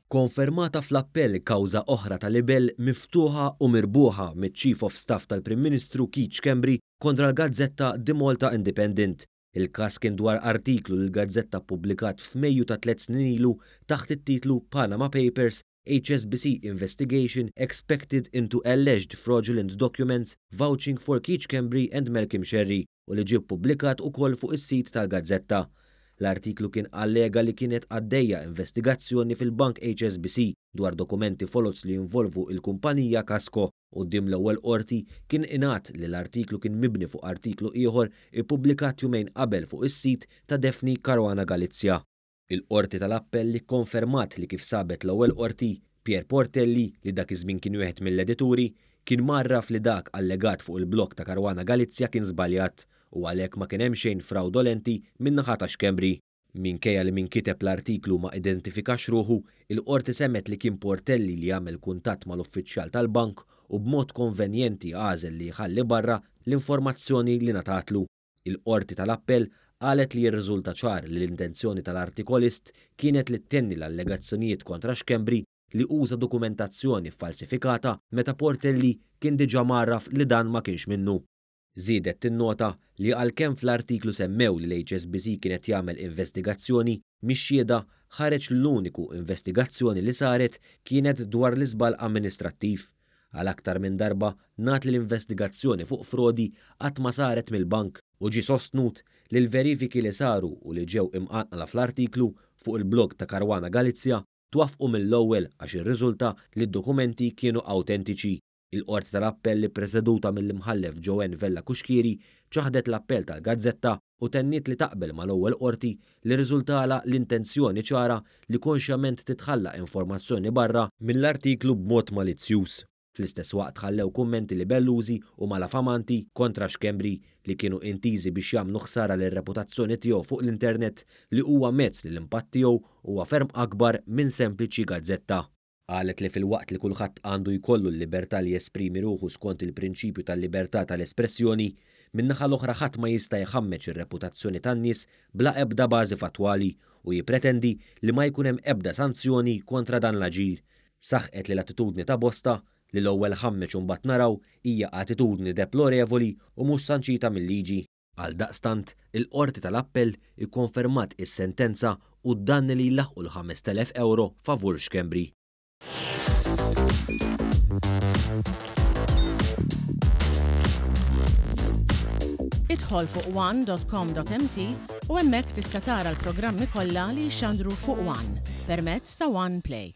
Konfermata fl-appell kawża oħra ta' libell miftuħa u mirbuħa miċ-Chief of Staff tal-Prim Ministru Keith Schembri kontra l-gazzetta The Malta Independent. Il-każ kien dwar artiklu li l-gazzetta ppubblikat f'Mejju ta' tlett snin ilu taħt it-titlu Panama Papers, HSBC Investigation Expected into Alleged Fraudulent Documents Vouching for Keith Schembri and Malcolm Scerri u li ġie ppubblikat ukoll fuq is-sit tal-gazzetta. L-artiklu kien allega li kienet għaddejja investigazzjoni fil-bank HSBC dwar dokumenti foloz li jinvolvu il-kumpanija Kasco. Quddiem l-ewwel qorti kien ingħad li l-artiklu kien mibni fuq artiklu ieħor ippubblikat jumejn qabel fuq is-sit ta' Daphne Caruana Galizia. Il-Qorti tal-Appell ikkonfermat li kif sabet l-ewwel qorti, Pierre Portelli, li dak iż-żmien kien wieħed mill-edituri, kien mgħarraf li dak allegat fuq il-blog ta' Caruana Galizia kien żbaljat u għalhekk ma kien hemm xejn frawdolenti min-naħa ta' Schembri. Minkejja li min kiteb l-artiklu ma identifikax ruħu, il-Qorti semgħet li kien Portelli li għamel kuntatt mal-uffiċjal tal-bank u b'mod konvenjenti għażel li jħalli barra l-informazzjoni li ngħatatlu. Il-Qorti tal-Appell qalet li jirriżulta ċar li l-intenzjoni tal-artikolist kienet li ttenni l-allegazzjonijiet kontra Schembri li uża dokumentazzjoni ffalsifikata meta Portelli kien diġà mgħarraf li dan ma kienx minnu. Żiedet tinnota li għalkemm fl-artiklu semmew li l-HSBC kien qed jagħmel investigazzjoni, mix-xhieda ħareġ li l-uniku investigazzjoni li saret kienet dwar l-iżball amministrattiv. Għal aktar minn darba ngħad li l-investigazzjoni fuq frodi qatt ma saret mill-bank u ġie sostnut li l-verifiki li saru u li ġew imqanqla fl-artiklu fuq il-blog ta' Caruana Galizia twaffqu mill-ewwel għax irriżulta li d-dokumenti kienu awtentiċi. Il-Qorti tal-Appell ippreseduta mill-Imħallef Joanne Vella Cuschieri ċaħdet l-appell tal-gazzetta u tenniet li taqbel mal-ewwel qorti li rriżultalha l-intenzjoni ċara li konxjament titħalla informazzjoni barra mill-artiklu b'mod malizzjuż. Fl-istess waqt ħallew kummenti libellużi u malafamanti kontra Schembri li kienu intiżi biex jagħmlu ħsara lir-reputazzjoni tiegħu fuq l-internet li huwa mezz li l-impatt tiegħu huwa ferm akbar minn sempliċi gazzetta. Qalet li filwaqt li kulħadd għandu jkollu l-libertà li jesprimi ruħu skont il-prinċipju tal-libertà tal-espressjoni, min-naħa l-oħra ħadd ma jista' jħammeġ ir-reputazzjoni tan-nies bla ebda bażi fattwali u jippretendi li ma jkun hemm ebda sanzjoni kontra dan l-aġir. Saħqet li l-attitudni ta' bosta, li l-ewwel ħammeġ u mbagħad naraw, hija attitudni deplorevoli u mhux sanċita mil-liġi. Għaldaqstant, il-Qorti tal-Appell ikkonfermat is-sentenza u d-danni li jlaħħqu l-5,000 ewro favur Schembri. Idħol fuq one.com.mt u hemmhekk tista' tara l-programmi kollha li jixxandru fuq One permezz ta' One Play.